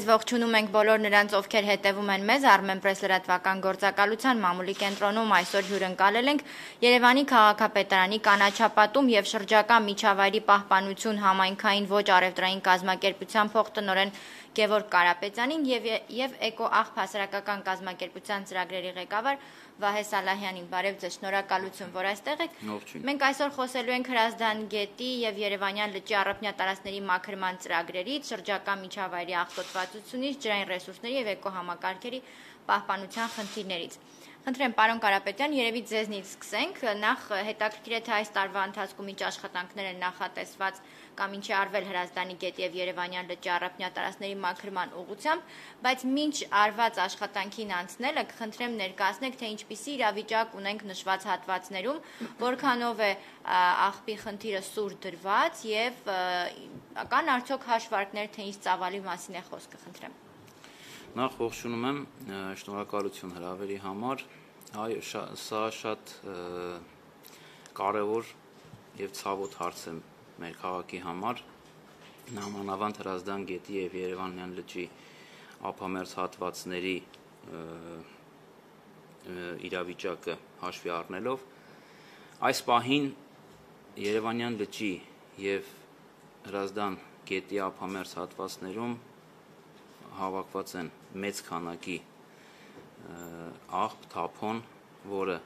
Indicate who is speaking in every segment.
Speaker 1: Ողջունում ենք բոլոր նրանց, ովքեր հետևում են մեզ Armenpress լրատվական գործակալության մամուլի կենտրոնում այսօր հյուրընկալել ենք Երևանի քաղաքապետարանի կանաչապատում եւ շրջակա միջավայրի պահպանություն համայնքային ոչ առևտրային կազմակերպության փոխտնօրեն Գևորգ Կարապետյանին եւ Էկոաղբ հասարակական կազմակերպության ծրագրերի ղեկավար Վահե Սալահյանին։ Բարև ձեզ, շնորհակալություն, որ այստեղ եք։ Մենք այսօր խոսելու ենք Հրազդան գետի եւ Երևանյան լճի առափնյա տարածքների մաքրման ծրագրերից, շրջակա միջավայրի աղտոտվածությունից, ջրային ռեսուրսների եւ էկոհամակարգերի պահպանության խնդիրներից։ Խնդրեմ, պարոն Կարապետյան, երևի ձեզնից սկսենք։ Նախ հետաքրքիր է թե այս տարվա ընթացքում ինչ աշխատանքներ են նախատեսված կամ ինչ է արվել Հրազդանի գետի եւ Երևանյան լճի առափնյա տարածքների մաքրման ուղղությամբ, բայց մինչ արված աշխատանքին անցնելը կխնդրեմ ներկայացնեք, թե ինչպիսի իրավիճակ ունենք նշված հատվածներում, որքանով է աղբի խնդիրը սուր դրված եւ կան արդյոք հաշվարկներ, թե ինչ ծավալի մասին է խոսքը, խնդրեմ։
Speaker 2: Նախ ողջունում եմ, շնորհակալություն հրավերի համար, սա շատ կարևոր եւ ցավոտ հարց է մեր քաղաքի համար, նամանավանդ Հրազդան գետի եւ Երևանյան լճի ափամերձ հատվածների իրավիճակը հաշվի առնելով, այս պահին Երևանյան լճի եւ Հրազդան գետի ափամերձ հատվածներում հավաքված են մեծ քանակի աղբ, թափոն, որը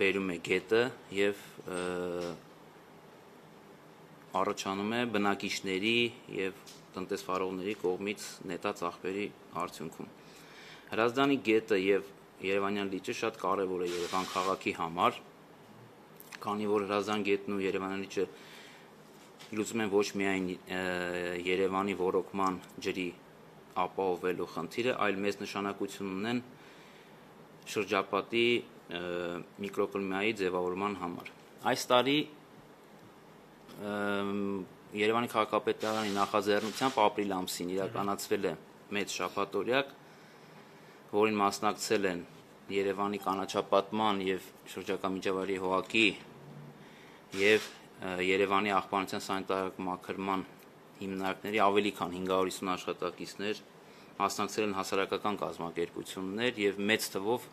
Speaker 2: բերում է գետը եւ առաջանում է բնակիչների եւ տնտեսվարողների կողմից նետած աղբերի արդյունքում։ Հրազդանի գետը եւ Երևանյան լիճը շատ կարեւոր է Երևան քաղաքի համար, քանի որ Հրազդան գետն ու Երևանյան լիճը լուծում են ոչ միայն Երևանի ոռոգման ջրի ապահովելու խնդիրը, այլ մեծ նշանակություն ունեն շրջապատի միկրոկլիմայի ձևավորման համար։ Այս տարի Երևանի քաղաքապետարանի նախաձեռնությամբ ապրիլ ամսին իրականացվել է մեծ շաբաթօրյակ, որին մասնակցել են Երևանի կանաչապատման եւ շրջակա միջավայրի հողակի եւ Երևանի աղբանության սանիտարական մաքրման հիմնարկների ավելի քան 550 աշխատակիցներ, մասնակցել են հասարակական կազմակերպություններ եւ մեծ թվով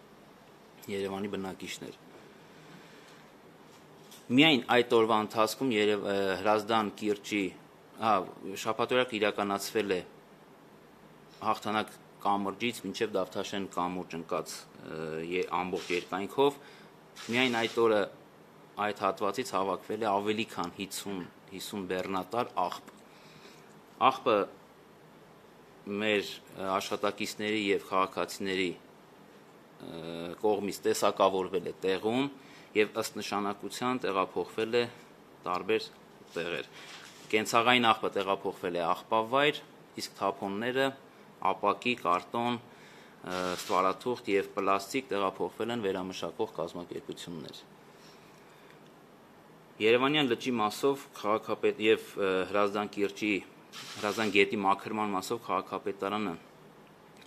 Speaker 2: Երևանի բնակիչներ։ Միայն այդ օրվա ընթացքում Հրազդան կիրճի շաբաթօրյակը իրականացվել է Հաղթանակ կամրջից մինչև Դավթաշեն կամուրջ ընկած ամբողջ երկայնքով, միայն այդ օրը այդ հատվածից հավաքվել է ավելի քան 50 բեռնատար աղբ։ Աղբը մեր աշխատակիցների եւ քաղաքացիների կողմից տեսակավորվել է տեղում եւ ըստ նշանակության տեղափոխվել է տարբեր տեղեր։ Կենցաղային աղբը տեղափոխվել է աղբավայր, իսկ թափոնները ապակի, կարտոն, ստվարաթուղթ եւ պլաստիկ տեղափոխվել են վերամշակող կազմակերպություններ։ Երևանյան լճի մասով եւ Հրազդան գետի մաքրման մասով քաղաքապետարանը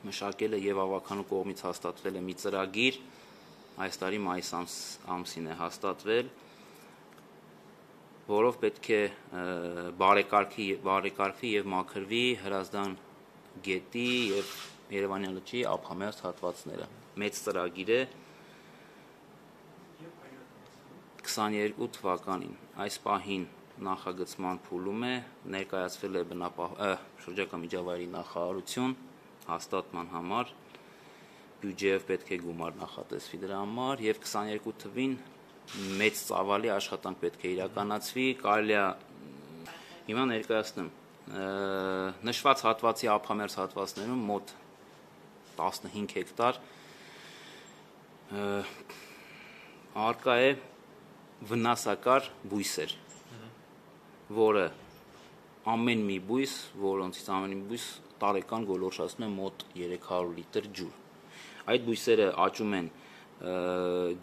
Speaker 2: մշակել է եւ ավականու կողմից հաստատվել է մի ծրագիր, այս տարի մայիս ամսին է հաստատվել, որով պետք է բարեկարգվի եւ մաքրվի Հրազդան գետի եւ Երևանյան լճի ափամերձ հատվածները։ Մեծ ծրագիր է 22 թվականին այս պահին նախագծման փուլում է, ներկայացվել է շրջակա միջավայրի նախարարություն հաստատման համար, բյուջեով պետք է գումար նախատեսվի դրա համար եւ 22 թվին մեծ ծավալի աշխատանք պետք է իրականացվի, կարելի է հիմա ներկայացնեմ նշված հատվածի ափամերձ հատվածներում մոտ 15 հեկտար արկա է վնասակար բույսեր, որը ամեն մի բույս, որոնցից ամեն մի բույս տարեկան գոլորշացնում է մոտ 300 լիտր ջուր։ Այդ բույսերը աճում են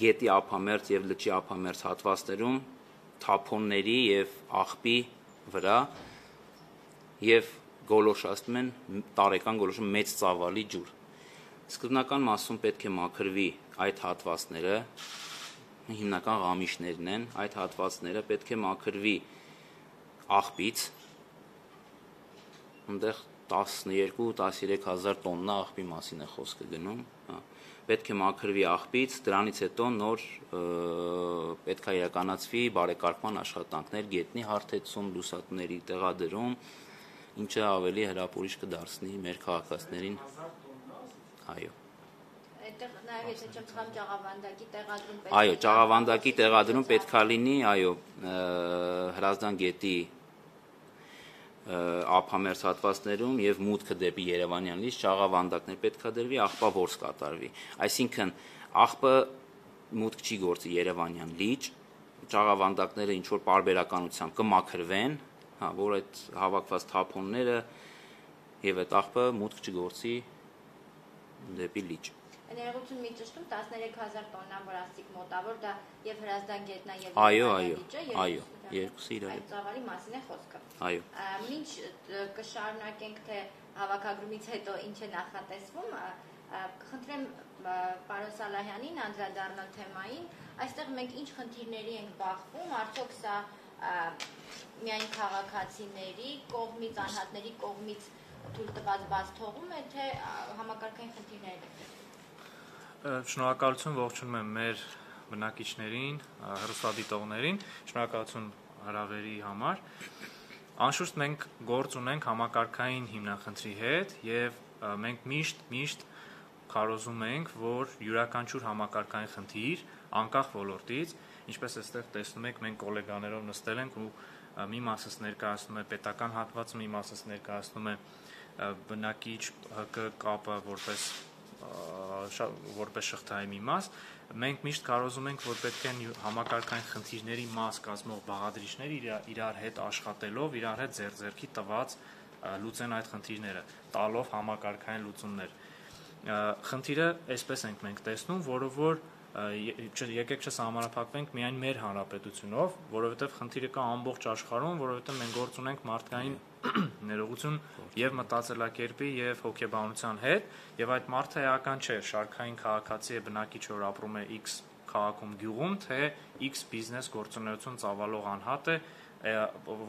Speaker 2: գետի ափամերձ եւ լճի ափամերձ հատվածներում, թափոնների եւ աղբի վրա եւ գոլորշացնում են տարեկան գոլորշում մեծ ծավալի ջուր։ Սկզբնական մասում պետք է մաքրվի այդ հատվածները, հիմնական ղամիշներն են, այդ հատվածները պետք է մաքրվի աղբից, այնտեղ 12-13 հազար տոննա աղբի մասին է խոսքը գնում, պետք է մաքրվի աղբից, դրանից հետո նոր պետք է իրականացվի բարեկարգման աշխատանքներ, գետնի հարթեցում, լուսատների տեղադրում, ինչը ավելի հրապուրիչ կդարձնի մեր քաղաքացիներին, այո։
Speaker 1: Այդտեղ նաև եթե չեմ սխալվում ճաղավանդակի տեղադրում պետք է։
Speaker 2: Այո, ճաղավանդակի տեղադրում պետք է լինի, այո, Հրազդան գետի ափամերձ հատվածներում եւ մուտքը դեպի Երևանյան լիճ ճաղավանդակներ պետք է դրվի, աղբա որս կատարվի։ Այսինքն աղբը մուտք չի գործի Երևանյան լիճ, ճաղավանդակները ինչ որ պարբերականությամբ կմաքրվեն, որ այդ հավաքված թափոնները եւ այդ աղբը մուտք չգործի դեպի լիճ։
Speaker 1: Ներողություն մի ճշտում 13000 տոննա, որ ասիկ մոտավոր դա եւ Հրազդան գետնն է եւ
Speaker 2: այո, երկուսը իրար
Speaker 1: այդ ծավալի մասին է խոսքը։
Speaker 2: Այո։
Speaker 1: Մինչ կշարունակենք թե հավաքագրումից հետո ինչ է նախատեսվում, կխնդրեմ պարոն Սալահյանին անդրադառնալ թեմային, այստեղ մենք ինչ խնդիրների ենք բախվում, արդյոք սա միայն քաղաքացիների կողմից, անհատների կողմից թույլ տված բաց թողում է, թե համակարգային խնդիրներ են։
Speaker 3: Շնորհակալություն ողջունում եմ մեր բնակիչներին, հեռուստադիտողներին, շնորհակալություն հրավերի համար։ Անշուշտ մենք գործ ունենք համակարգային հիմնախնդրի հետ եւ մենք միշտ քարոզում ենք, որ յուրաքանչյուր համակարգային խնդիր, անկախ ոլորտից, ինչպես այստեղ տեսնում եք, մենք գոլեգաներով նստել ենք ու մի մասս ներկայացնում է պետական հատվածը, մի մասս ներկայացնում է բնակիչ ՀԿ կապը որպես շղթայի մի մաս, մենք միշտ կարոզում ենք, որ պետք են համակարգային խնդիրների մաս կազմող բաղադրիչներ իրար հետ աշխատելով, իրար հետ ձեռքի տված լուծեն այդ խնդիրները, տալով համակարգային լուծումներ։ Խնդիրը այսպես ենք մենք տեսնում, որը որ եկեք չսահմանափակվենք միայն մեր հանրապետությունով, որովհետև խնդիրը կա ամբողջ աշխարհում, որովհետև մենք գործ ունենք մարդկային ներողություն եւ մտածելակերպի եւ հոգեբանության հետ, եւ այդ մարդը էական չէ, շարքային քաղաքացի է, բնակիչ, որ ապրում է X քաղաքում, գյուղում, թե X բիզնես գործունեություն ծավալող անհատ է,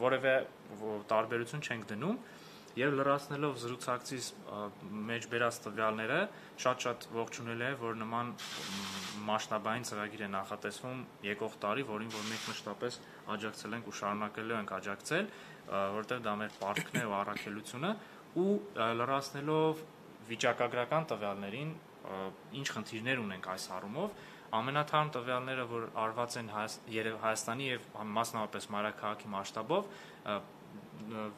Speaker 3: որևէ տարբերություն չենք դնում։ Եվ լրացնելով զրուցակցից մեջ բերած տվյալները, շատ ողջունել է, որ նման մասշտաբային ծրագիր է նախատեսվում եկող տարի, որին որ մենք մշտապես աջակցել ենք ու շարունակելու ենք աջակցել, որովհետև դա մեր պարտքն է ու առաքելությունը, ու լրացնելով վիճակագրական տվյալներին, ինչ խնդիրներ ունենք այս առումով, ամենաթարմ տվյալները, որ արված են Հայաստանի եւ մասնավորապես մայրաքաղաքի մասշտաբով,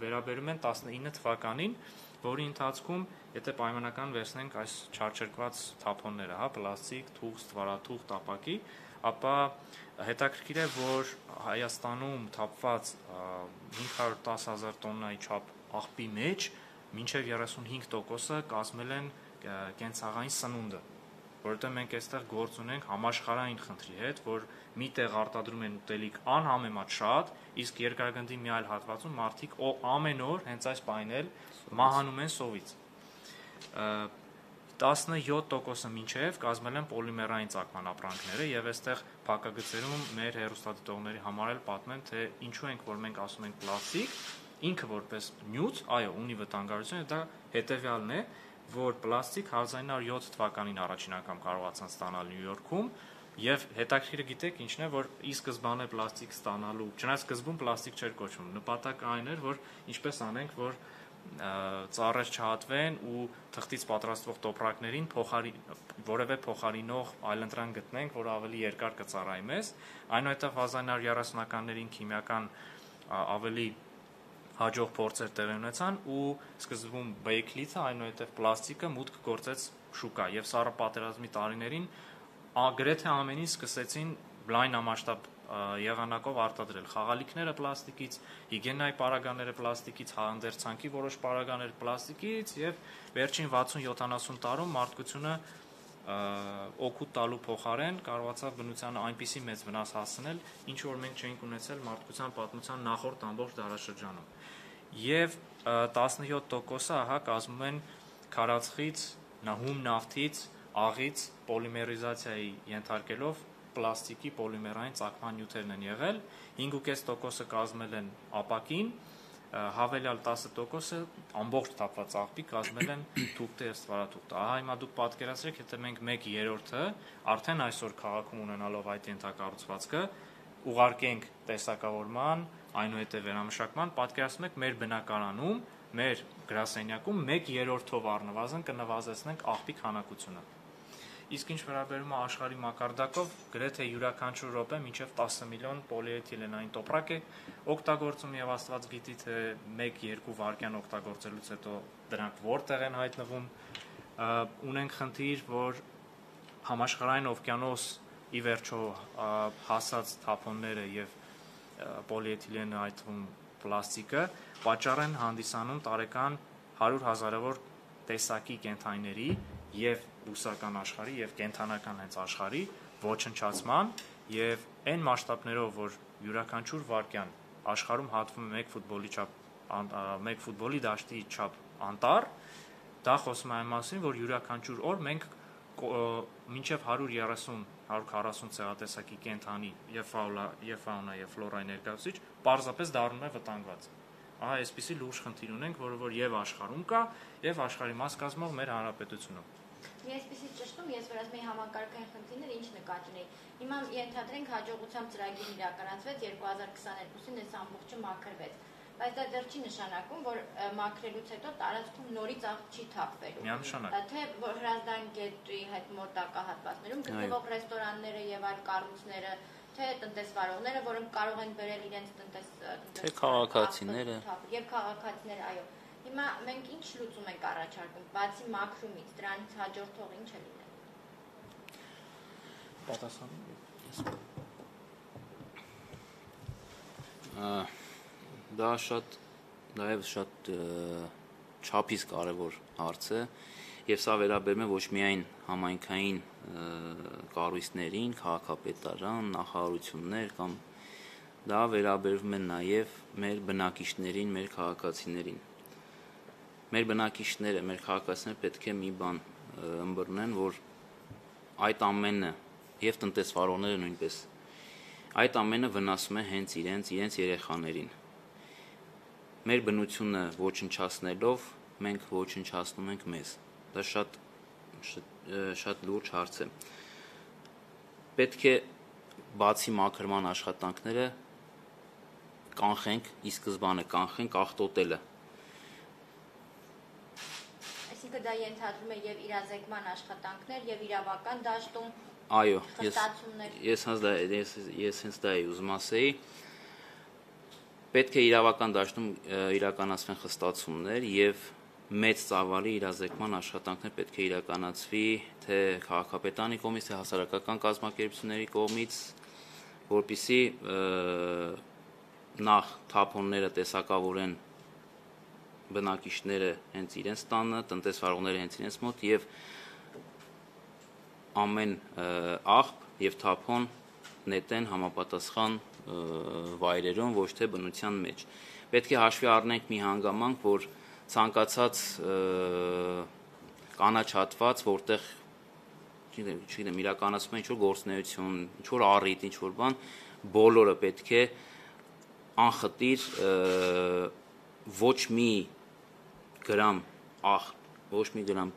Speaker 3: վերաբերում են 19 թվականին, որի ընթացքում, եթե պայմանական վերցնենք այս չարչերկված թափոնները, պլաստիկ, թուղթ, ստվարաթուղթ, ապակի, ապա հետաքրքիր է, որ Հայաստանում թափված 510,000 տոննայի չափ աղբի մեջ մինչև 35%-ը կազմել են կենցաղային սնունդը, որովհետև մենք այստեղ գործ ունենք համաշխարհային խնդրի հետ, որ մի տեղ արտադրում են ուտելիք անհամեմատ շատ, իսկ երկրագնդի մի այլ հատվածում մարդիկ ամեն օր հենց այս պահին էլ մահանում են սովից։ 17%-ը մինչև կազմել են պոլիմերային ծակման ապրանքները եւ այստեղ փակագծերում մեր հեռուստադիտողների համար էլ պատմեմ, թե ինչու ենք որ մենք ասում ենք պլաստիկ, ինքը որպես նյութ, այո, ունի վտանգավորություն, դա հետեւյալն է, որ պլաստիկ 1907 թվականին առաջին անգամ կարողացան ստանալ Նյու Յորքում եւ հետաքրքիրը գիտեք ինչն է, որ ի սկզբանե պլաստիկ ստանալու, չնայած սկզբում պլաստիկ չէր կոչվում, նպատակը այն էր, որ ինչպես անենք, որ ծառեր չհատվեն ու թղթից պատրաստվող տոպրակներին որևէ փոխարինող այլընտրանք գտնենք, որ ավելի երկար կծառայի մեզ, այնուհետև 1930-ականներին քիմիական ավելի հաջող փորձեր տեղի ունեցան ու սկզբում բեյքլիթը, այնուհետև պլաստիկը մուտք գործեց շուկա եւ սառը պատերազմի տարիներին գրեթե ամեն ինչ սկսեցին լայնամասշտաբ եղանակով արտադրել խաղալիքները պլաստիկից, հիգիենայի պարագաները պլաստիկից, հանդերձանքի որոշ պարագաներ պլաստիկից եւ վերջին 60-70 տարում մարդկությունը օգուտ տալու փոխարեն կարողացավ բնությանը այնպիսի մեծ վնաս հասցնել, ինչ որ մենք չէինք ունեցել մարդկության պատմության նախորդ ամբողջ դարաշրջանում։ Եվ 17%-ը ահա կազմում են քարածխից, հում նավթից, աղից պոլիմերիզացիայի ենթարկելով պլաստիկի պոլիմերային ծակման նյութերն են եղել, 5.5%-ը կազմել են ապակին, հավելյալ 10%-ը ամբողջ թափված աղբի կազմել են թուղթը եւ ստվարաթուղթը։ Ահա հիմա դուք պատկերացրեք, եթե մենք 1/3-ը արդեն այսօր քաղաքում ունենալով այդ ենթակառուցվածքը ուղարկենք տեսակավորման, այնուհետև վերամշակման, պատկերացնում եք մեր բնակարանում, մեր գրասենյակում 1/3-ով առնվազն կնվազեցնենք աղբի քանակությունը։ Իսկ ինչ վերաբերում է աշխարհի մակարդակով, գրեթե յուրաքանչյուր րոպե մինչև 10 միլիոն պոլիէթիլենային տոպրակ է օգտագործում եւ Աստված գիտի թե 1-2 վայրկյան օգտագործելուց հետո դրանք որտեղ են հայտնվում։ Ունենք խնդիր, որ համաշխարհային օվկիանոս ի վերջո հասած թափոնները եւ պոլիէթիլենը, այդ թվում պլաստիկը, պատճառ են հանդիսանում տարեկան 100,000-ավոր տեսակի կենդանիների եւ բուսական աշխարհի եւ կենդանական հենց աշխարհի ոչնչացման եւ այն մասշտաբներով, որ յուրաքանչյուր վայրկյան աշխարհում հատվում է մեկ ֆուտբոլի դաշտի չափ անտառ, դա խոսում է այն մասին, որ յուրաքանչյուր օր մենք մինչև 130-140 ցեղատեսակի կենդանի եւ ֆաունա եւ ֆլորայի ներկայացուցիչ պարզապես դառնում է վտանգված։ Ահա այսպիսի լուրջ խնդիր ունենք, որը եւ աշխարհում կա, եւ աշխարհի մաս կազմող մեր հանրապետությունում։
Speaker 1: Մի այսպիսի ճշտում ես որ ասում եմ համակարգային խնդիրներ ինչ նկատի ունեի։ Հիմա ենթադրենք հաջողությամբ ծրագիրը իրականացվեց 2022-ին այս ամբողջը մաքրվեց։ Բայց դա դեռ չի նշանակում, որ մաքրելուց հետո տարածքում նորից աղբ չի թափվելու։
Speaker 3: Միանշանակ։
Speaker 1: Թե Հրազդան գետի հետ մոտակա հատվածներում գտնվող ռեստորանները եւ այլ կառույցները, թե տնտեսվարողները, որոնք կարող են բերել իրենց
Speaker 2: թե քաղաքացիները
Speaker 1: եւ քաղաքացիները, այո։ Հիմա մենք ինչ լուծում ենք առաջարկում, բացի մաքրումից, դրանից հաջորդող ինչ է լինել։
Speaker 3: Պատասխանը։
Speaker 2: Դա նաև շատ չափից կարևոր հարց է եւ սա վերաբերում է ոչ միայն համայնքային կառույցներին, քաղաքապետարան, նախարարություններ կամ դա վերաբերվում է նաև մեր բնակիչներին, մեր քաղաքացիներին։ Մեր բնակիչները, մեր քաղաքացիները պետք է մի բան ըմբռնեն, որ այդ ամենը եւ տնտեսվարողները նույնպես այդ ամենը վնասում է հենց իրենց երեխաներին։ Մեր բնությունը ոչնչացնելով մենք ոչնչացնում ենք մեզ։ Դա շատ լուրջ հարց է։ Պետք է բացի մաքրման աշխատանքները կանխենք, ի սկզբանե կանխենք աղտոտելը։
Speaker 1: Այսինքն դա ենթադրում է եւ իրազեկման աշխատանքներ եւ իրավական դաշտում։
Speaker 2: Այո, ես հենց դա էի ուզում ասեի։ Պետք է իրավական դաշտում իրականացվեն խստացումներ եւ մեծ ծավալի իրազեկման աշխատանքներ պետք է իրականացվի թե քաղաքապետարանի կողմից, թե հասարակական կազմակերպությունների կողմից, որպեսզի նախ թափոնները տեսակավորեն բնակիչները հենց իրենց տանը, տնտեսվարողները հենց իրենց մոտ եւ ամեն աղբ եւ թափոն նետեն համապատասխան վայրերում, ոչ թե բնության մեջ։ Պետք է հաշվի առնենք մի հանգամանք, որ ցանկացած կանաչ հատված, որտեղ չգիտեմ, իրականացում է ինչ-որ գործունեություն, ինչ-որ առիթ, ինչ-որ բան, բոլորը պետք է անխտիր ոչ մի գրամ ոչ մի գրամ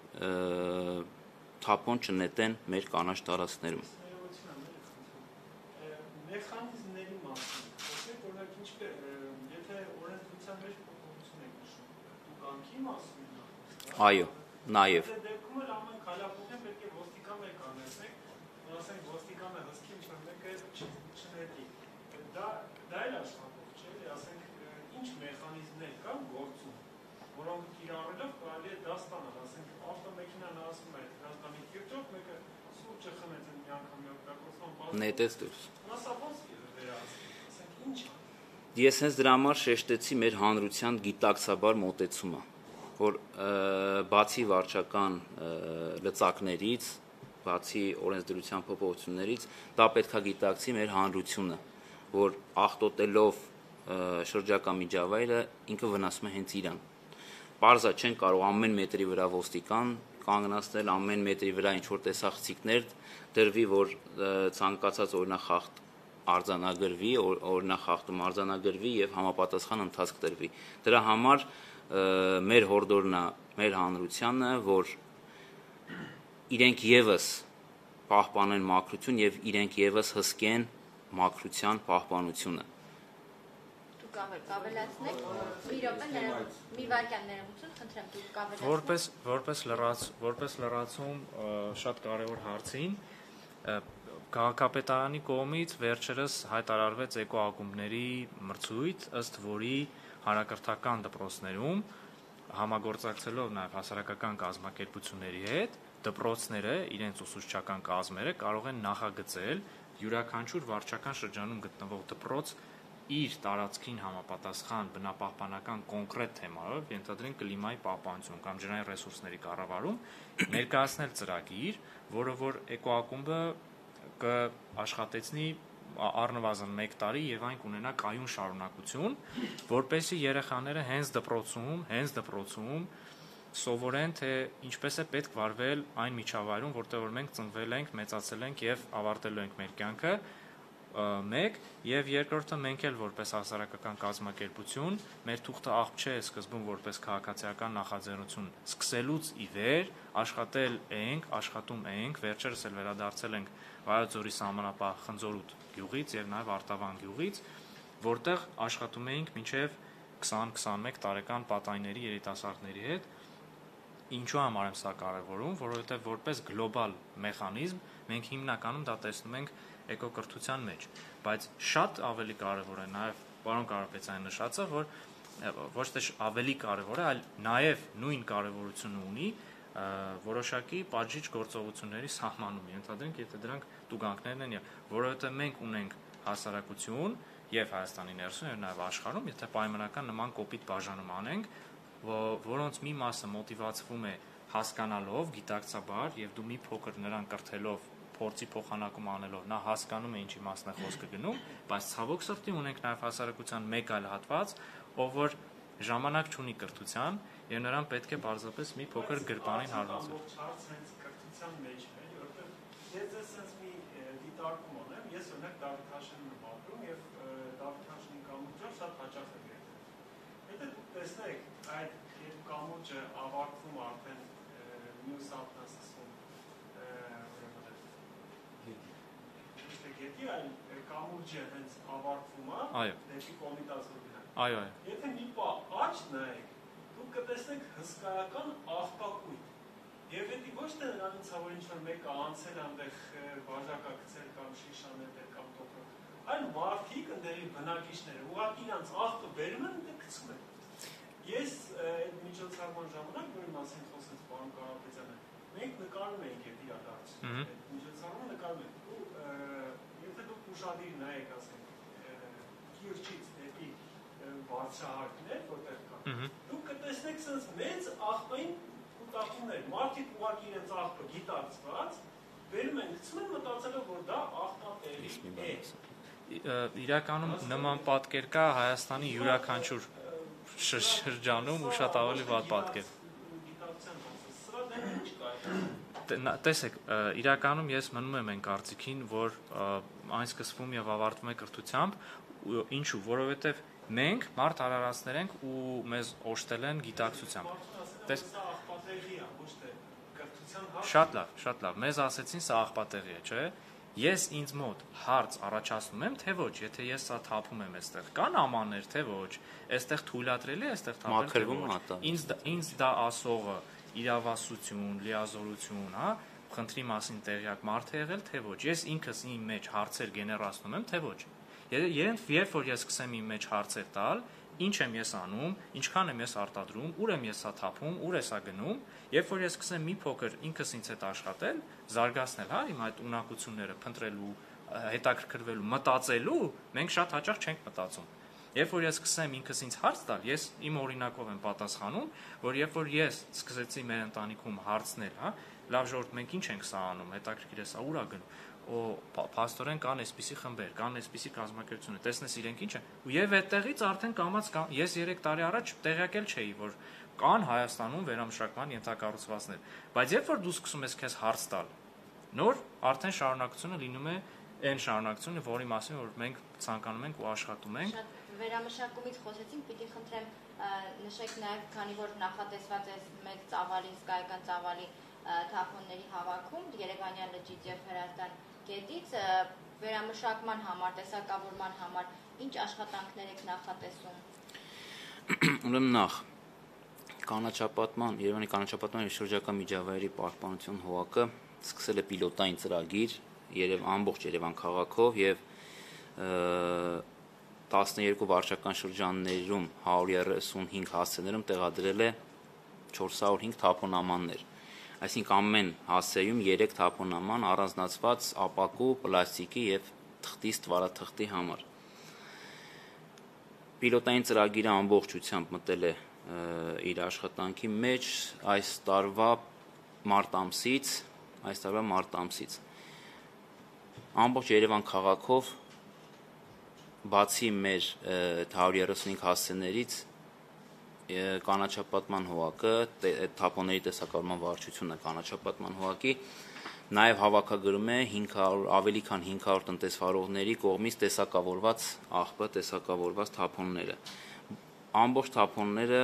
Speaker 2: թափոն չնետեն մեր կանաչ տարածքներում։
Speaker 4: Մեխանիզմների մասին, խոսեք, օրինակ ինչպես, եթե օրենսդրության մեջ փոփոխություն եք նշում, դուք անկի մասին եք։
Speaker 2: Այո, նաև։
Speaker 4: Դեպքում էլ ամեն քայլափոխին պետք է ոստիկան մեկ անեցնեք, ասենք ոստիկանը հսկի ինչ-որ մեկը չնետի։ Դա էլ աշխատող չէ, ասենք ինչ մեխանիզմներ կան գործում, որոնք կիրառելով կարելի է դա ստանալ, ասենք ավտոմեքենան ասում է Հրազդանի կիրճով, մեկը սուրճը խմեց մի անգամ օգտագործման
Speaker 2: նետեց դուրս։
Speaker 4: Ինչ։
Speaker 2: Ես հենց դրա համար շեշտեցի մեր հանրության գիտակցաբար մոտեցումը, որ բացի վարչական լծակներից, բացի օրենսդրության փոփոխություններից, դա պետքա գիտակցի մեր հանրությունը, որ աղտոտելով շրջակա միջավայրը ինքը վնասում է հենց իրան։ Պարզա չեն կարող ամեն մետրի վրա ոստիկան կանգնացնել, ամեն մետրի վրա ինչ-որ տեսախցիկներ դրվի, որ ցանկացած օրինակ խախտ արձանագրվի, օրինախախտում արձանագրվի եւ համապատասխան ընթացք տրվի։ Դրա համար մեր հորդորն է մեր հանրությանը, որ իրենք եւս պահպանեն մաքրություն եւ իրենք եւս հսկեն մաքրության պահպանությունը։
Speaker 1: Դուք կավելացնեք, մի րոպե, մի վայրկյան ներողություն, խնդրեմ, դուք կավելացնեք։
Speaker 3: Որպես լրացում շատ կարևոր հարցին, քաղաքապետարանի կողմից վերջերս հայտարարվեց էկոակումբների մրցույթ, ըստ որի հանրակրթական դպրոցներում համագործակցելով նաև հասարակական կազմակերպությունների հետ դպրոցները իրենց ուսուցչական կազմերը կարող են նախագծել յուրաքանչյուր վարչական շրջանում գտնվող դպրոց իր տարածքին համապատասխան բնապահպանական կոնկրետ թեմայով, ենթադրենք կլիմայի պահպանություն կամ ջրային ռեսուրսների կառավարում, ներկայացնել ծրագիր, որը որ էկոակումբը կաշխատեցնի առնվազն 1 տարի եւ այն կունենա կայուն շարունակություն, որպեսզի երեխաները հենց դպրոցում սովորեն, թե ինչպես է պետք վարվել այն միջավայրում, որտեղ որ մենք ծնվել ենք, մեծացել ենք եւ ավարտելու ենք մեր կյանքը, մեկ եւ երկրորդը մենք էլ որպես հասարակական կազմակերպություն մեր թուղթը աղբ չէ սկզբում որպես քաղաքացիական նախաձեռնություն սկսելուց ի վեր աշխատում ենք, վերջերս էլ վերադարձել ենք Վայոց-Ձորի սահմանապահ Խնձորուտ գյուղից եւ նաեւ Արտավան գյուղից, որտեղ աշխատում էինք մինչեւ 20-21 տարեկան պատայների երիտասարդների հետ։ Ինչու համար եմ սա կարևորում, որովհետեւ որպես գլոբալ մեխանիզմ մենք հիմնականում դա տեսնում ենք էկոկրթության մեջ, բայց շատ ավելի կարևոր է նաեւ պարոն Կարապետյանը նշածը, որ ոչ թե ավելի կարևոր է, այլ նաեւ նույն կարևորությունը ունի որոշակի պատժիչ գործողությունների սահմանում, ենթադրենք, եթե դրանք տուգանքներն են, որովհետեւ մենք ունենք հասարակություն եւ Հայաստանի ներսում եւ նաեւ աշխարհում, եթե պայմանական նման կոպիտ բաժանում անենք, որոնց մի մասը մոտիվացվում է հասկանալով, գիտակցաբար եւ դու մի փոքր նրան կրթելով, փորձի փոխանակում անելով, նա հասկանում է ինչի մասն է խոսքը գնում, բայց ցավոք սրտի ունենք նաեւ հասարակության մեկ այլ հատված, ով որ ժամանակ չունի կրթության եւ նրան պետք է պարզապես մի փոքր գրպանին հարվածել։
Speaker 4: Կրթության մեջ է, որովհետեւ ես այսպես մի դիտարկում ունեմ, ես օրինակ Դավիթ Հաշինին եմ ապրում եւ Դավիթ Հաշինի կամուրջով շատ հաճախ եմ եկել։ Եթե դուք տեսնեք այդ երբ կամուրջը ավարտվում արդեն մյուս հատն ասում գետի այլ կամուրջը հենց ավարտվում է դեպի Կոմիտասը գնալ։
Speaker 3: Այո։
Speaker 4: Եթե մի պա աճ նայեք, դուք կտեսնեք հսկայական աղբակույտ։ Եվ դա ոչ թե նրանից որ ինչ-որ մեկը անցել այնտեղ բաժակակցել կամ շիշանել կամ տոկրել, այլ մարդիկ ընդերի բնակիչները ուղղակի իրանց աղբը բերում են ու գցում են։ Ես այդ միջոցառման ժամանակ, որի մասին խոսեց պարոն Կարապետյանը, մենք նկարում էինք այդ իրադարձությունը։ Այդ միջոցառումը նկարում ենք։ Եթե դուք ուշադիր նայեք, ասենք, Կիրճից դեպի բարձրահարկներ, որտեղ կա, դուք կտեսնեք sense մեծ աղբային կուտակումներ, մարդիկ ուղղակի իրենց աղբը գիտակցված, բերում են, գցում են մտածելով, որ դա աղբատեղի է։
Speaker 3: Իրականում նման պատկեր կա Հայաստանի յուրաքանչյուր շրջանում ու շատ ավելի վատ պատկեր։
Speaker 4: Սրա դեմ ինչ կա։
Speaker 3: Տեսեք, իրականում ես մնում եմ այն կարծիքին, որ այն սկսվում եւ ավարտվում է կրթությամբ, ինչու, որովհետեւ մենք մարդ արարածներ ենք ու մեզ օժտել են գիտակցությամբ։ Շատ լավ, մեզ ասեցին սա աղբատեղի է, չէ՞։ Ես ինձ մոտ հարց առաջացնում եմ, թե ոչ, եթե ես սա թափում եմ այստեղ, կան ամաններ, թե ոչ, այստեղ թույլատրելի է այստեղ թափել, թե ոչ։ Ինձ դա ասողը իրավասություն, լիազորություն, հա, խնդրի մասին տեղյակ մարդ է եղել, թե ոչ։ Ես ինքս իմ մեջ հարցեր գեներացնում եմ, թե ոչ։ Երբ որ ես սկսեմ իմ մեջ հարցեր տալ, ինչ եմ ես անում, ինչքան եմ ես արտադրում, ուր եմ ես սա թափում, ուր է սա գնում, երբ որ ես սկսեմ մի փոքր ինքս ինձ հետ աշխատել, զարգացնել, հա, իմ այդ ունակությունները փնտրելու, հետաքրքրվելու, մտածելու, մենք շատ հաճախ չենք մտածում։ Երբ որ ես սկսեմ ինքս ինձ հարց տալ, ես իմ օրինակով եմ պատասխանում, որ երբ որ ես սկսեցի մեր ընտանիքում հարցնել, հա, լավ ժողովուրդ, մենք ինչ ենք սա անում, հետաքրքիր է սա ուր է գնում, փաստորեն կան այսպիսի խմբեր, կան այսպիսի կազմակերպություններ, տեսնես իրենք ինչ են, եւ այդտեղից արդեն կամաց ես 3 տարի առաջ տեղյակել չէի, որ կան Հայաստանում վերամշակման ենթակառուցվածքներ, բայց երբ որ դու սկսում ես քեզ հարց տալ, նոր արդեն շարունակությունը լինում է այն շարունակությունը, որի մասին որ մենք ցանկանում ենք ու աշխատում ենք։
Speaker 1: Վերամշակումից խոսեցինք, պիտի խնդրեմ նշեք նաև, քանի որ նախատեսված է մեծ ծավալի, հսկայական ծավալի թափոնների հավաքում Երևանյան լճից եւ Հրազդան գետից, վերամշակման համար, տեսակավորման համար ինչ աշխատանքներ եք նախատեսում։
Speaker 2: Ուրեմն նախ կանաչապատման, Երևանի կանաչապատման եւ շրջակա միջավայրի պահպանություն ՀՕԱԿ-ը սկսել է պիլոտային ծրագիր ամբողջ Երևան քաղաքով եւ 12 վարչական շրջաններում 135 հասցեներում տեղադրել է 405 թափոնամաններ։ Այսինքն ամեն հասցեում 3 թափոնաման առանձնացված ապակու, պլաստիկի եւ թղթի ստվարաթղթի համար։ Պիլոտային ծրագիրը ամբողջությամբ մտել է իր աշխատանքի մեջ այս տարվա մարտ ամսից, ամբողջ Երևան քաղաքով բացի մեր 135 հասցեներից կանաչապատման ՀՕԱԿ-ը, թափոնների տեսակավորման վարչությունը կանաչապատման ՀՕԱԿ-ի նաև հավաքագրում է ավելի քան 500 տնտեսվարողների կողմից տեսակավորված տեսակավորված թափոնները։ Ամբողջ թափոնները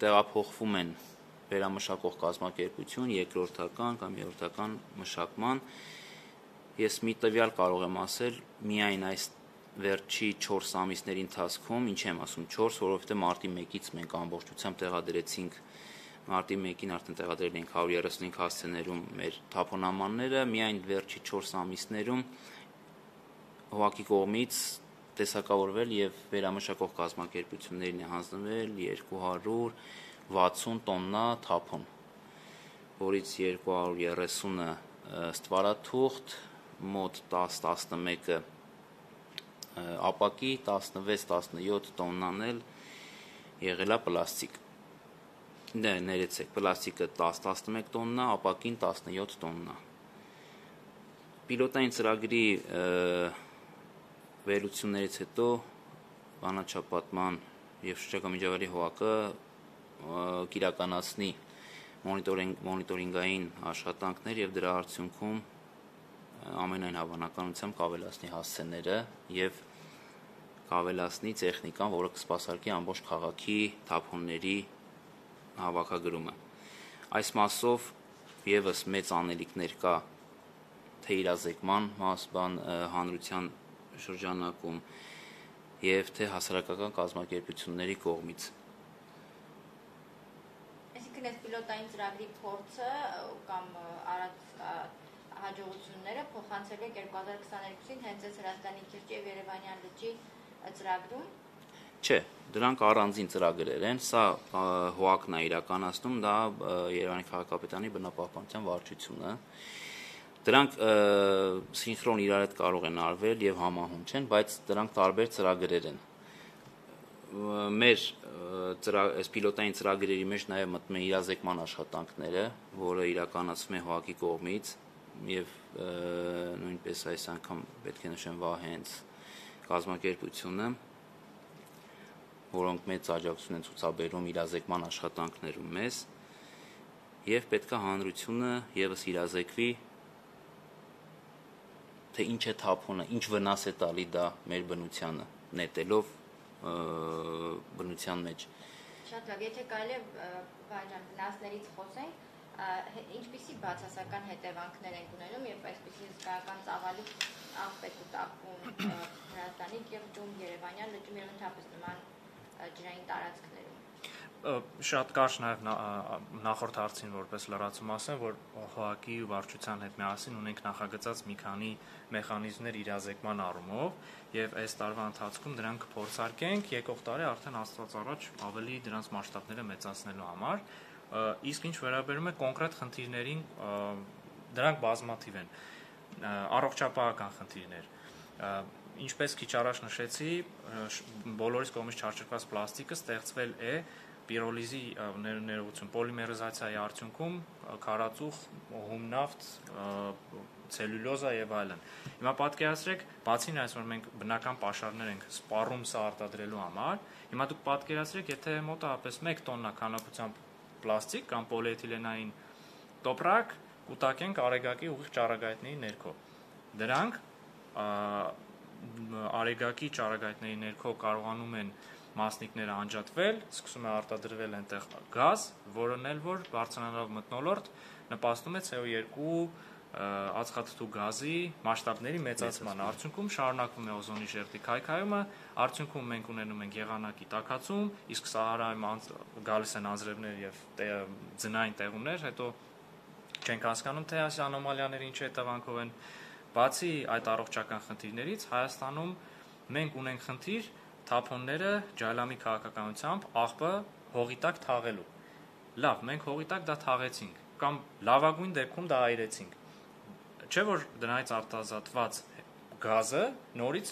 Speaker 2: տեղափոխվում են վերամշակող կազմակերպություն, երկրորդական կամ երրորդական մշակման։ Ես մի տվյալ կարող եմ ասել, միայն այս վերջի 4 ամիսների ընթացքում, ինչ եմ ասում 4, որովհետև մարտի 1-ից մենք ամբողջությամբ տեղադրեցինք, մարտի 1-ին արդեն տեղադրել ենք 135 հասցեներում մեր թափոնամանները, միայն վերջի 4 ամիսներում ՀՕԱԿ-ի կողմից տեսակավորվել եւ վերամշակող կազմակերպություններին է հանձնվել 260 տոննա թափոն, որից 230-ը ստվարաթուղթ, մոտ 10-11-ը ապակի, 16-17 տոննան էլ եղել է պլաստիկ։ Ներեցեք, պլաստիկը 10-11 տոննա, ապակին 17 տոննա։ Պիլոտային ծրագրի վերլուծություններից հետո կանաչապատման եւ շրջակա միջավայրի ՀՕԱԿ-ը կիրականացնի մոնիտորինգային աշխատանքներ եւ դրա արդյունքում ամենայն հավանականությամբ կավելացնի հասցեները եւ կավելացնի տեխնիկան, որը կսպասարկի ամբողջ քաղաքի թափոնների հավաքագրումը։ Այս մասով եւս մեծ անելիքներ կա թե իրազեկման հանրության շրջանակում եւ թե հասարակական կազմակերպությունների կողմից։
Speaker 1: Այսինքն այս պիլոտային ծրագրի փորձը կամ արած հաջողությունները փոխանցել եք 2022-ին հենց այս Հրազդանի քիրջի եւ Երևանյան լճի ծրագրում։ Չէ,
Speaker 2: դրանք առանձին ծրագրեր են, սա ՀՕԱԿ-ն է իրականացնում, դա Երևանի քաղաքապետարանի բնապահպանության վարչությունը։ Դրանք սինխրոն իրար հետ կարող են արվել եւ համահունչ են, բայց դրանք տարբեր ծրագրեր են։ Մեր այս պիլոտային ծրագրերի մեջ նաև մտնում է իրազեկման աշխատանքները, որը իրականացվում է ՀՕԱԿ-ի կողմից եւ նույնպես այս անգամ պետք է նշեմ Վահենց կազմակերպությունը, որոնք մեծ աջակցություն են ցուցաբերում իրազեկման աշխատանքներում մեզ, եւ պետք է հանրությունը եւս իրազեկվի, թե ինչ է թափոնը, ինչ վնաս է տալի դա մեր բնությանը, նետելով բնության մեջ։
Speaker 1: Շատ լավ, եթե կարելի է Վահան վնասներից խոսենք, ինչպիսի բացասական հետևանքներ են ունենում եւ այսպիսի հսկայական ծավալի աղբեկ ու տափում Հրազդանի կիրճում, Երևանյան լճում եւ ընդհանրապես նման ջրային տարածքներում։
Speaker 3: Շատ կարճ նաև նախորդ հարցին որպես լրացում ասեմ, որ ՀՕԱԿ-ի ու վարչության հետ միասին ունենք նախագծած մի քանի մեխանիզմներ իրազեկման առումով եւ այս տարվա ընթացքում դրանք փորձարկենք, եկող տարի արդեն Աստված առաջ ավելի դրանց մասշտաբները մեծացնելու համար, իսկ ինչ վերաբերում է կոնկրետ խնդիրներին, դրանք բազմաթիվ են, առողջապահական խնդիրներ, ինչպես քիչ առաջ նշեցի, բոլորիս կողմից չարչարված պլաստիկը ստեղծվել է պիրոլիզի ներողություն, պոլիմերիզացիայի արդյունքում քարածուխ, հումնավթ, ցելյուլոզա եւ այլն։ Հիմա պատկերացրեք, բացի այս որ մենք բնական պաշարներ ենք սպառում սա արտադրելու համար, հիմա դուք պատկերացրեք, եթե մոտավորապես 1 տոննա քանակությամբ պլաստիկ կամ պոլիէթիլենային տոպրակ կուտակենք արեգակի ուղիղ ճառագայթների ներքո։ Դրանք արեգակի ճառագայթների ներքո կարողանում են մասնիկները անջատվել, սկսում է արտադրվել այնտեղ գազ, որն էլ որ բարձրանալով մթնոլորտ նպաստում է CO2 ածխաթթու գազի մասշտաբների մեծացման, արդյունքում շարունակվում է օզոնի շերտի քայքայումը, արդյունքում մենք ունենում ենք եղանակի տաքացում, իսկ Սահարայում գալիս են անձրևներ եւ ձնային տեղումներ, հետո չենք հասկանում, թե այս անոմալիաները ինչ հետևանքով են։ Բացի այդ առողջական խնդիրներից, Հայաստանում մենք ունենք խնդիր թափոնները ջայլամի քաղաքականությամբ աղբը հողի տակ թաղելու։ Լավ, մենք հողի տակ դա թաղեցինք, կամ լավագույն դեպքում դա այրեցինք։ Չէ՞ որ դրանից արտազատված գազը նորից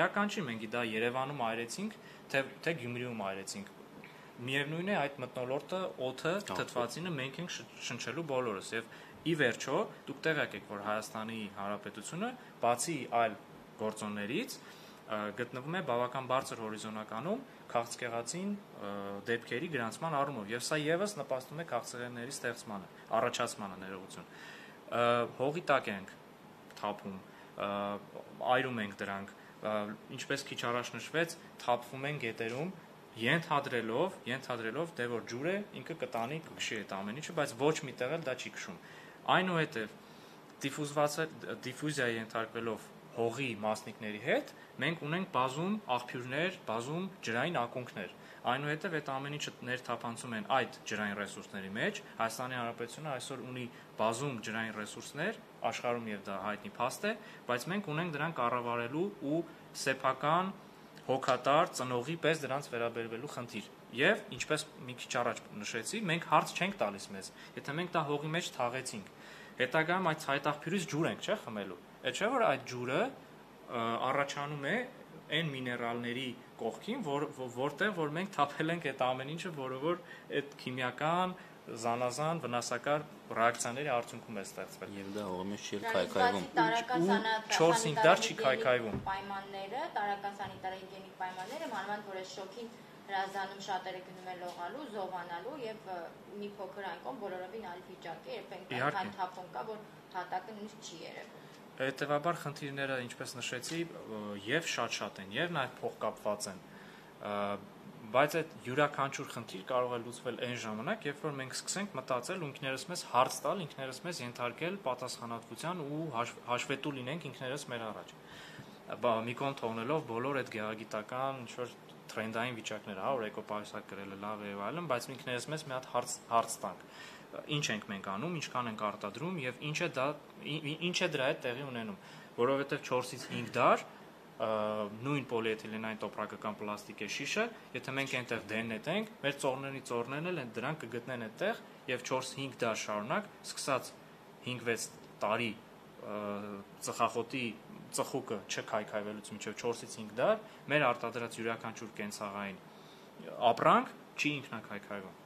Speaker 3: էական չի, մենք դա Երևանում այրեցինք, թե Գյումրիում այրեցինք։ Միևնույն է, այդ մթնոլորտը, օդը, թթվածինը մենք ենք շնչելու բոլորս եւ ի վերջո դուք տեղյակ եք, որ Հայաստանի Հանրապետությունը բացի այլ գործոններից գտնվում է բավական բարձր հորիզոնականում քաղցկեղածին դեպքերի գրանցման առումով եւ սա եւս նպաստում է քաղցկեղների ստեղծմանը, առաջացմանը, ներողություն։ Հողի տակ ենք թափում, այրում ենք դրանք, ինչպես քիչ առաջ նշվեց, թափվում են գետերում, ենթադրելով, դե որ ջուրը ինքը կտանի, կքշի այդ ամեն ինչը, բայց ոչ մի տեղ էլ դա չի քշում։ Այնուհետև դիֆյուզիայի ենթարկվելով հողի մասնիկների հետ, մենք ունենք բազում աղբյուրներ, բազում ջրային ակունքներ։ Այնուհետև այդ ամեն ինչը ներթափանցում են այդ ջրային ռեսուրսների մեջ։ Հայաստանի Հանրապետությունը այսօր ունի բազում ջրային ռեսուրսներ, աշխարհում եւ դա հայտնի փաստ է, բայց մենք ունենք դրանք կառավարելու ու սեփական հոգատար ծնողի պես դրանց վերաբերվելու խնդիր։ Եվ ինչպես մի քիչ առաջ նշեցի, մենք հարց չենք տալիս մեզ, եթե մենք դա հողի մեջ թաղեցինք, հետագայում այդ ցայտաղբյուրից ջուր ենք, չէ՞, խմելու։ Այդ չէ՞ որ այդ ջուրը առաջանում է այն միներալների կողքին, որտեղ որ մենք թափել ենք այդ ամեն ինչը, որը որ այդ քիմիական զանազան վնասակար ռեակցիաների արդյունքում է ստեղծվել։
Speaker 2: Եվ դա հողի մեջ չի քայքայվում։
Speaker 3: 4-5 դար չի քայքայվում։
Speaker 1: Պայմանները, տարական սանիտար-հիգիենիկ պայմանները, մանավանդ որ այս շոքին հրազդանում շատերը գնում են լողալու, զովանալու եւ մի փոքր անկոն բոլորովին այլ վիճակ է, երբ այնքան թափոն կա, որ հատակը նույնիսկ չի երևում։
Speaker 3: Հետևաբար խնդիրները, ինչպես նշեցի, եւ շատ են, եւ նաեւ փոխկապված են, բայց այդ յուրաքանչյուր խնդիր կարող է լուծվել այն ժամանակ, երբ որ մենք սկսենք մտածել ու ինքներս մեզ հարց տալ, ինքներս մեզ ենթարկել պատասխանատվության ու հաշվետու լինենք ինքներս մեր առաջ։ Մի կողմ թողնելով բոլոր այդ գեղագիտական ինչ-որ թրենդային վիճակները, որ էկոպայուսակ գրելը լավ է եւ այլն, բայց ինքներս մեզ մի հատ հարց տանք։ Ինչ ենք մենք անում, ինչքան ենք արտադրում եւ ինչ է դրա հետ տեղի ունենում, որովհետեւ 4-ից 5 դար նույն պոլիէթիլենային տոպրակական պլաստիկե շիշը, եթե մենք այնտեղ դենետենք, մեր ծոռներն էլ դրանք կգտնեն այդտեղ եւ 4-5 դար շարունակ, սկսած 5-6 տարի ծխախոտի ծխուկը չքայքայվելուց մինչև 4-ից 5 դար, մեր արտադրած յուրաքանչյուր կենցաղային ապրանք չի ինքնակայքայվում։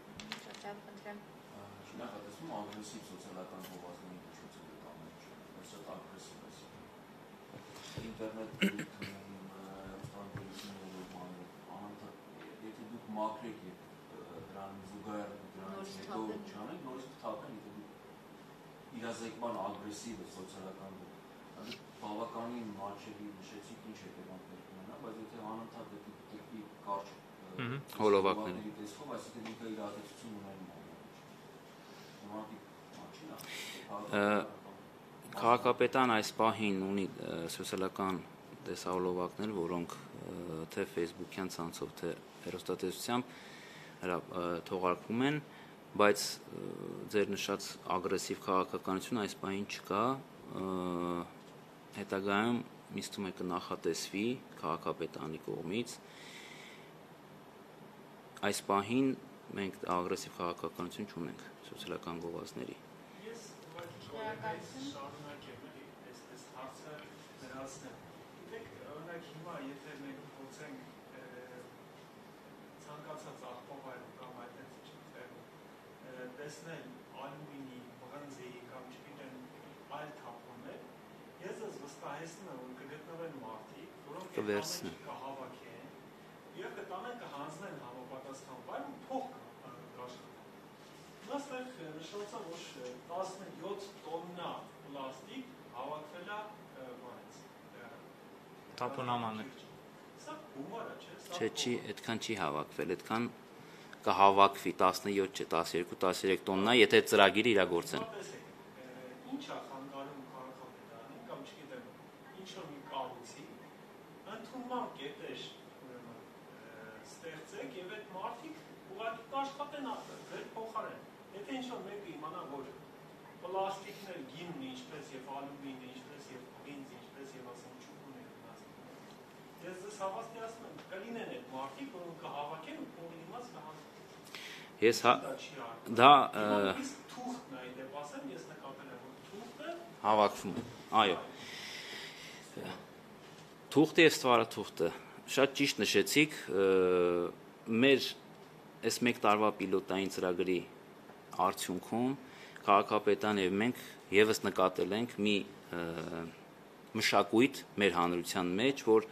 Speaker 5: Նախատեսվում ագրեսիվ սոցիալական հովազների միջոցով է ամենը, շատ ագրեսիվ է։ Ինտերնետ եթե դուք մաքրեք եւ դրան զուգահեռ դրանից հետո չանեք, նորից կթափեն, եթե դուք իրազեկման ագրեսիվ է սոցիալական բավականին մատչելի նշեցիք ինչ հետևանքներ կունենա, բայց եթե անընդհատ դեպի կարճ
Speaker 2: հոլովակների
Speaker 5: տեսքով, այսինքն ինքը իր ազդեցություն ունենում է։
Speaker 2: Քաղաքապետան այս պահին ունի սոցիալական տեսահոլովակներ, որոնք թե Facebook-յան ցանցով, թե հեռուստատեսությամբ թողարկվում են, բայց ձեր նշած ագրեսիվ քաղաքականություն այս պահին չկա, հետագայում միստում է կնախատեսվի քաղաքապետանի կողմից։ Այս պահին մենք ագրեսիվ քաղաքականություն չունենք սոցիալական գովազդների։
Speaker 4: Ես շարունակեմ այս հարցը դրացնել։ Գիտեք, օրինակ հիմա եթե մենք փորձենք ցանկացած աղբավայրում կամ այդպես չտեղում տեսնել ալյումինի, բրոնզի կամ չգիտեմ այլ թափոններ, ես վստահեցնում եմ, որ կգտնվեն մարդիկ, որոնք կհավաքեն եւ կտանեն կհանձնեն համապատասխան վայր ու փող կաշխատեն։ Այստեղ նշված է, որ 17 տոննա պլաստիկ հավաքվել է
Speaker 3: Թափոնամաններ։
Speaker 4: Սա գումար է, չէ՞։
Speaker 2: Չէ, այդքան չի հավաքվել, այդքան կհավաքվի 17 չէ, 12-13 տոննա, եթե ծրագիրը իրագործեն։
Speaker 4: Ինչ է խանգարում քաղաքապետարանին կամ չգիտեմ, ինչ-որ մի կառույցի ընդունման կետեր ստեղծեք եւ այդ մարդիկ ուղղակի կաշխատեն ձեր փոխարեն։ Եթե ինչ-որ մեկը իմանա, որ պլաստիկներ գինն ինչպես եւ ալյումինը, ինչպես եւ բենզինը, ինչպես եւ ասենք ճուկունը ես հավաստիացնում եմ, կլինեն այդ մարդիկ, որոնք կհավաքեն ու փողի դիմաց կհանձնեն։
Speaker 2: Ես դա
Speaker 4: թուղթն է, դեպ ասեմ, ես նկատել եմ, որ թուղթը
Speaker 2: հավաքվում է։ Այո։ Թուղթը եւ ստվարաթուղթը շատ ճիշտ նշեցիք, մեր այս 1 տարվա պիլոտային ծրագրի արդյունքում քաղաքապետան եւ մենք եւս նկատել ենք մի մշակույթ մեր հանրության մեջ, որ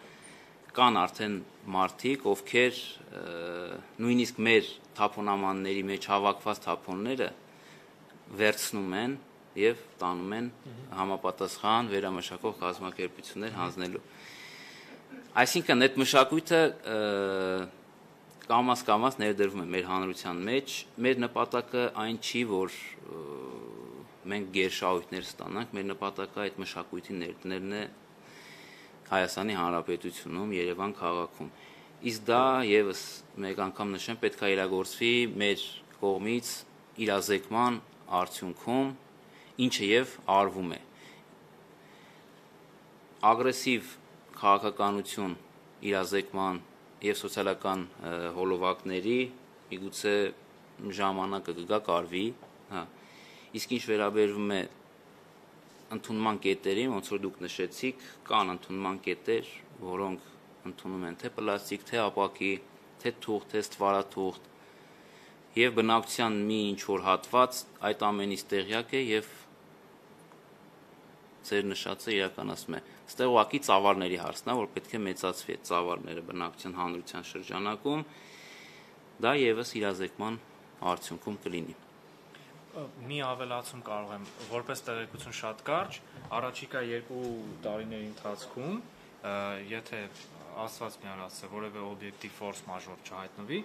Speaker 2: կան արդեն մարդիկ, ովքեր նույնիսկ մեր թափոնամանների մեջ հավաքված թափոնները վերցնում են եւ տանում են համապատասխան վերամշակող կազմակերպություններ հանձնելու։ Այսինքն այդ մշակույթը կամաց ներդրվում է մեր հանրության մեջ, մեր նպատակը այն չի, որ մենք գերշահույթներ ստանանք, մեր նպատակը այդ մշակույթի ներդնելն է Հայաստանի Հանրապետությունում, Երևան քաղաքում։ Իսկ դա եւս մեկ անգամ նշեմ, պետք է իրագործվի մեր կողմից իրազեկման արդյունքում, ինչը եւ արվում է։ Ագրեսիվ քաղաքականություն իրազեկման եւ սոցիալական հոլովակների միգուցե ժամանակը կգա կարվի, հա։ Իսկ ինչ վերաբերվում է ընդունման կետերին, ոնց որ դուք նշեցիք, կան ընդունման կետեր, որոնք ընդունում են թե պլաստիկ, թե ապակի, թե թուղթ, թե ստվարաթուղթ, եւ բնակության մի ինչ-որ հատված այդ ամենից տեղյակ է եւ ձեր նշածը իրականացում է։ Ստեղ ուղղակի ծավալների հարցն է, որ պետք է մեծացվի այդ ծավալները բնակության հանրության շրջանակում, դա եւս իրազեկման արդյունքում կլինի։
Speaker 3: Մի ավելացում կարող եմ, որպես տեղեկություն շատ կարճ, առաջիկա 2 տարիների ընթացքում, եթե Աստված միանացե որևէ օբյեկտիվ ֆորս մաժոր չհայտնվի,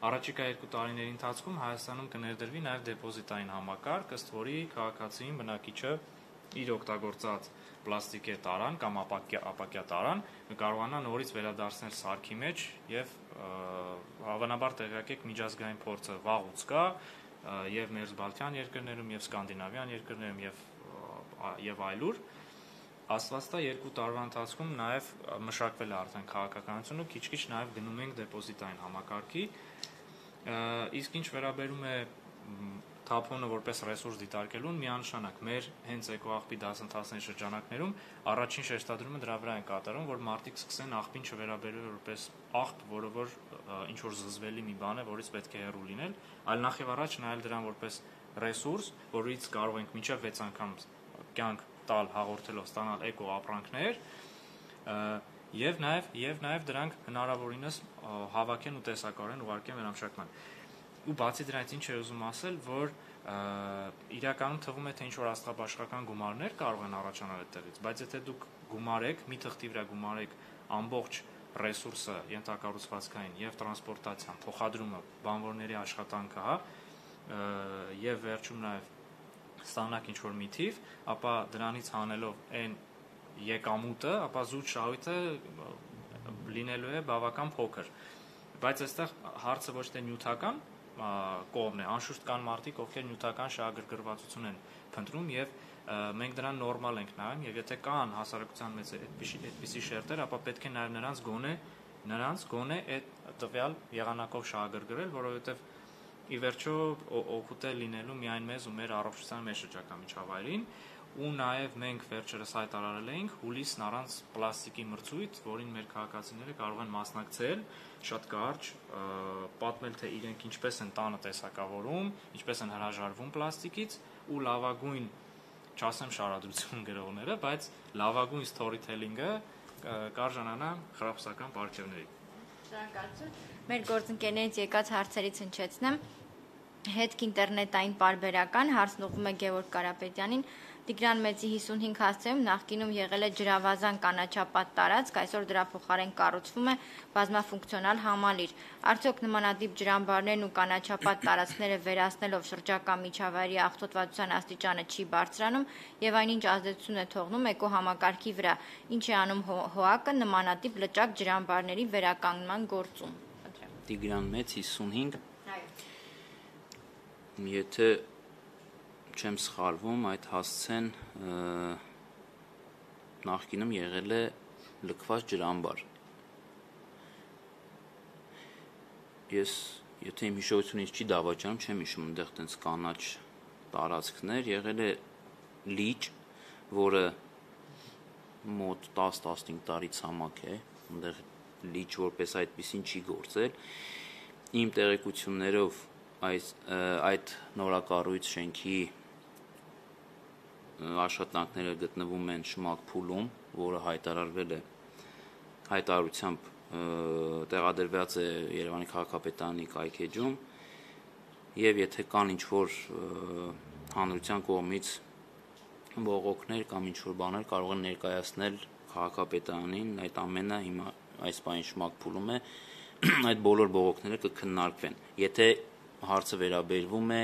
Speaker 3: առաջիկա 2 տարիների ընթացքում Հայաստանում կներդրվի նաև դեպոզիտային համակարգ, ըստ որի քաղաքացին բնակիչը իր օգտագործած պլաստիկե տարան կամ ապակյա տարան կարողանա նորից վերադարձնել սարքի մեջ եւ հավանաբար տեղյակ եք միջազգային փորձը վաղուց կա եւ մերձբալթյան երկրներում եւ սկանդինավյան երկրներում եւ այլուր Աստվածտա 2 տարվա ընթացքում նաև մշակվել է արդեն քաղաքականությունը, քիչ-քիչ նաև գնում ենք դեպոզիտային համակարգի, իսկ ինչ վերաբերում է թափոնը որպես ռեսուրս դիտարկելուն, միանշանակ մեր հենց էկոաղբի դասընթացների շրջանակներում առաջին շեշտադրումը դրա վրա են կատարում, որ մարդիկ սկսեն աղբին չվերաբերել որպես աղբ, որը որ ինչ որ զզվելի մի բան է, որից պետք է հեռու լինել, այլ նախ եւ առաջ նայել դրան որպես ռեսուրս, որից կարող ենք մինչև 6 անգամ կյանք տալ հաղորդելով ստանալ էկո ապրանքներ եւ նաեւ դրանք հնարավորինս հավաքեն ու տեսակարեն ուղարկեն վերամշակման։ Ու բացի դրանից ինչ է ուզում ասել, որ իրականում թվում է թե ինչ որ աստղաբաշխական գումարներ կարող են առաջանալ այդտեղից, բայց եթե դուք գումարեք, մի թղթի վրա գումարեք ամբողջ ռեսուրսը, ենթակառուցվածքային եւ տրանսպորտացիան, փոխադրումը, բանվորների աշխատանքը, հա, եւ վերջում նաեւ ստանանք ինչ-որ մի թիվ, ապա դրանից հանելով այն եկամուտը, ապա զուտ շահույթը լինելու է բավական փոքր։ Բայց այստեղ հարցը ոչ թե նյութական կողմն է, անշուշտ կան մարդիկ, ովքեր նյութական շահագրգռվածություն են փնտրում եւ մենք դրան նորմալ ենք նայում եւ եթե կան հասարակության մեջ այդպիսի շերտեր, ապա պետք է նաեւ նրանց գոնե այդ տվյալ եղանակով շահագրգռել, որովհետեւ ի վերջո օգուտ է լինելու միայն մեզ ու մեր առողջության մեր շրջակա միջավայրին ու նաև մենք վերջերս հայտարարել էինք հուլիսն առանց պլաստիկի մրցույթ, որին մեր քաղաքացիները կարող են մասնակցել, շատ կարճ պատմել թե իրենք ինչպես են տանը տեսակավորում, ինչպես են հրաժարվում պլաստիկից ու լավագույն, չասեմ շարադրություն գրողները, բայց լավագույն storytelling-ը կարժանանա խրախուսական պարգևների։
Speaker 1: Շնորհակալություն։ Մեր գործընկերներից եկած հարցերից հնչեցնեմ։ հետք ինտերնետային պարբերական, հարցն ուղղվում է Գևորգ Կարապետյանին։ Տիգրան Մեծի 55 հասցեում նախկինում եղել է ջրավազան կանաչապատ տարածք, այսօր դրա փոխարեն կառուցվում է բազմաֆունկցիոնալ համալիր։ Արդյոք նմանատիպ ջրամբարներն ու կանաչապատ տարածքները վերացնելով շրջակա միջավայրի աղտոտվածության աստիճանը չի բարձրանում եւ այնինչ ազդեցություն է թողնում էկոհամակարգի վրա։ Ինչ է անում ՀՕԱԿ-ը նմանատիպ լճակ ջրամբարների վերականգնման գործում։
Speaker 2: Տիգրան Մեծ 55
Speaker 1: Այո։
Speaker 2: Եթե չեմ սխալվում, այդ հասցեն նախկինում եղել է լքված ջրամբար։ Ես, եթե իմ հիշողությունից չի դավաճանում, չեմ հիշում այնտեղ տենց կանաչ տարածքներ, եղել է լիճ, որը մոտ 10-15 տարի ցամաք է, այնտեղ լիճ որպես այդպեսին չի գործել։ Իմ տեղեկություններով այդ նորակառույց շենքի աշխատանքները գտնվում են Շմակ փուլում, որը հայտարարվել է հայտարարությամբ տեղադրված է Երևանի քաղաքապետարանի կայքեջում, եւ եթե կան ինչ-որ հանրության կողմից բողոքներ կամ ինչ-որ բաներ կարող են ներկայացնել քաղաքապետարանին, այդ ամենը հիմա այս պահին Շմակ փուլում է, այդ բոլոր բողոքները կքննարկվեն։ Եթե հարցը վերաբերվում է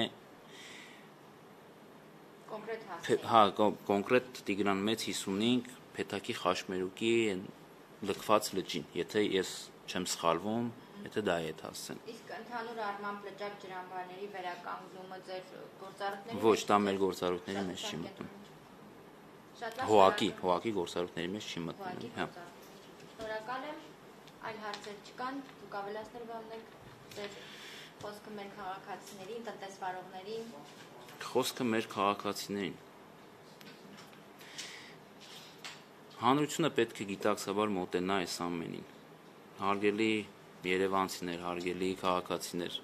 Speaker 2: կոնկրետ Տիգրան Մեծ 55 Փեթակի Խաշմերուկի լքված լճին, եթե ես չեմ սխալվում, եթե դա է այդ հասցեն։
Speaker 1: Իսկ ընդհանուր առմամբ լճակ ջրամբարների վերականգնումը ձեր գործառույթների
Speaker 2: Ոչ, դա մեր գործառույթների մեջ չի մտնում։ ՀՕԱԿ-ի գործառույթների մեջ չի մտնում, հա։
Speaker 1: Շնորհակալ եմ, այլ հարցեր չկան, դուք ավելացնել բանեք, ձեր խոսքը մեր քաղաքացիներին, տնտեսվարողներին։
Speaker 2: Խոսքը մեր քաղաքացիներին։ Հանրությունը պետք է գիտակցաբար մոտենա այս ամենին։ Հարգելի երևանցիներ, հարգելի քաղաքացիներ,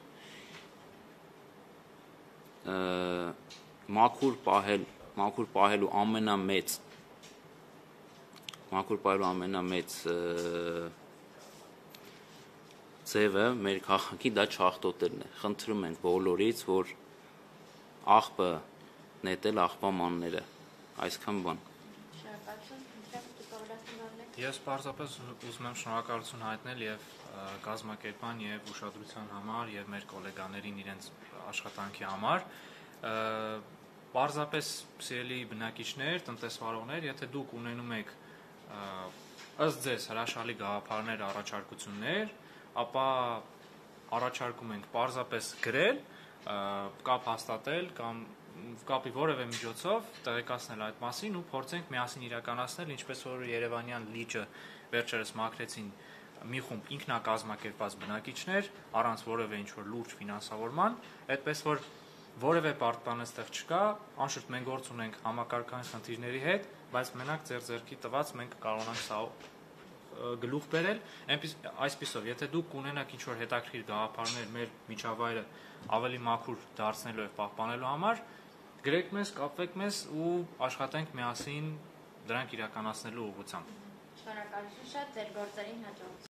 Speaker 2: մաքուր պահելու ամենամեծ ձևը մեր քաղաքի դա չաղտոտելն է։ Խնդրում ենք բոլորից, որ աղբը նետել աղբամանները, այսքան բան։
Speaker 3: Ես պարզապես ուզում եմ շնորհակալություն հայտնել եւ կազմակերպման եւ ուշադրության համար եւ մեր գոլեգաներին իրենց աշխատանքի համար։ Պարզապես սիրելի բնակիչներ, տնտեսվարողներ, եթե դուք ունենում եք ըստ ձեզ հրաշալի գաղափարներ, առաջարկություններ, ապա առաջարկում ենք պարզապես գրել, կապ հաստատել կամ կապի որևէ միջոցով տեղեկացնել այդ մասին ու փորձենք միասին իրականացնել, ինչպես որ Երևանյան լիճը վերջերս մաքրեցին մի խումբ ինքնակազմակերպված բնակիչներ առանց որևէ ինչ-որ լուրջ ֆինանսավորման, այդպես որ որևէ պարտման այստեղ չկա, անշուշտ մենք գործ ունենք համակարգային խնդիրների հետ, բայց մենակ ձեր ձեռքի տված մենք կարողանանք սա գլուխ բերել, այսպիսով, եթե դուք կունենաք ինչ-որ հետաքրքիր գաղափարներ մեր միջավայրը ավելի մաքուր դարձնելու եւ պահպանելու համար, գրեք մեզ, կապվեք մեզ ու աշխատենք միասին դրանք իրականացնելու ուղղությամբ։
Speaker 1: Շնորհակալություն շատ, ձեր գործերին հաջողություն։